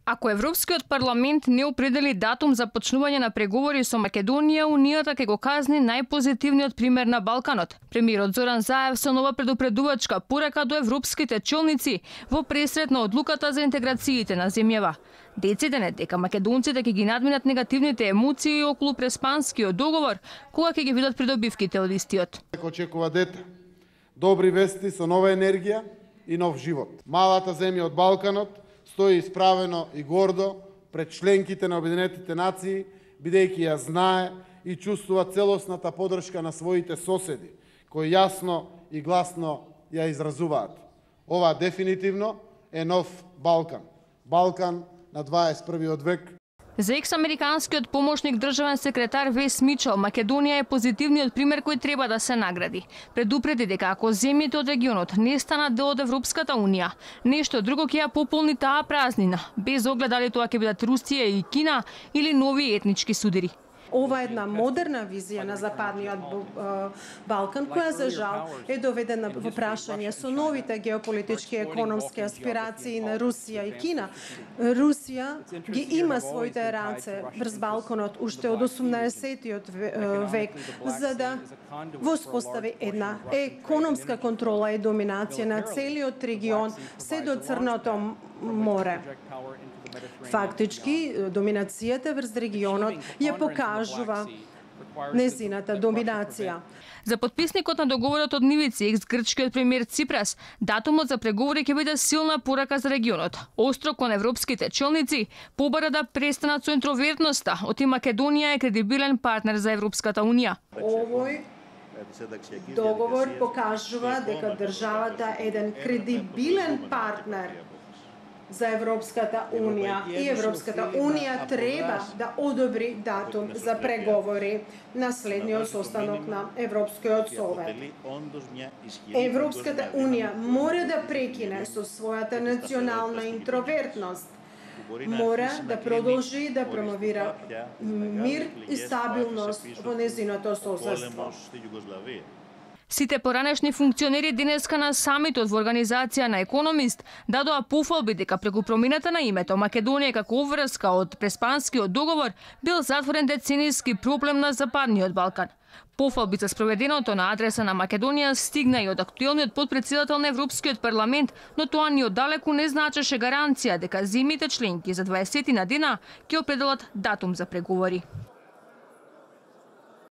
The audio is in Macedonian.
Ако Европскиот парламент не определи датум за почнување на преговори со Македонија, Унијата ќе го казни најпозитивниот пример на Балканот. Премиерот Зоран Заев со нова предупредувачка порака до европските челници во пресрет на одлуката за интеграциите на земјава. Дециден е дека македонците ќе ги надминат негативните емоции околу Преспанскиот договор, кога ќе ги видат придобивките од истиот. Очекува дете, добри вести со нова енергија и нов живот. Малата земја од Балканот стои исправено и гордо пред членките на Обединетите нации, бидејќи ја знае и чувствува целосната поддршка на своите соседи, кои јасно и гласно ја изразуваат. Ова дефинитивно е нов Балкан. Балкан на 21. век. За екс-американскиот помошник државен секретар Вес Мичел, Македонија е позитивниот пример кој треба да се награди. Предупреди дека ако земјите од регионот не станат дел од Европската Унија, нешто друго ќе ја пополни таа празнина, без оглед дали тоа ќе бидат Русија и Кина или нови етнички судири. Ова е една модерна визија на Западниот Балкан, која за жал е доведена во прашање со новите геополитички и економски аспирации на Русија и Кина. Русија ги има своите раце врз Балканот уште од 18-тиот век, за да воспостави една економска контрола и доминација на целиот регион се до Црното море. Фактички, доминацијата врз регионот ја покажува незината доминација. За подписникот на договорот од Нивици, екс-грчкиот премиер Ципрас, датумот за преговори ќе биде силна порака за регионот. Остро кон европските челници побара да престанат со интровертноста, оти Македонија е кредибилен партнер за Европската Унија. Овој договор покажува дека државата е еден кредибилен партнер за Европската Унија и Европската Унија треба да одобри датум за преговори на следниот состанок на Европскиот совет. Европската Унија мора да прекине со својата национална интровертност. Мора да продолжи да промовира мир и стабилност во незиното соседство. Сите поранешни функционери денеска на самитот во организација на Економист дадоа пофалби дека преку промината на името Македонија како обврска од Преспанскиот договор бил затворен деценијски проблем на Западниот Балкан. Пофалби за спроведеното на адреса на Македонија стигна и од актуелниот потпредседател на Европскиот парламент, но тоа ни оддалеку не значеше гаранција дека земјите членки за 20 дена ќе определат датум за преговори.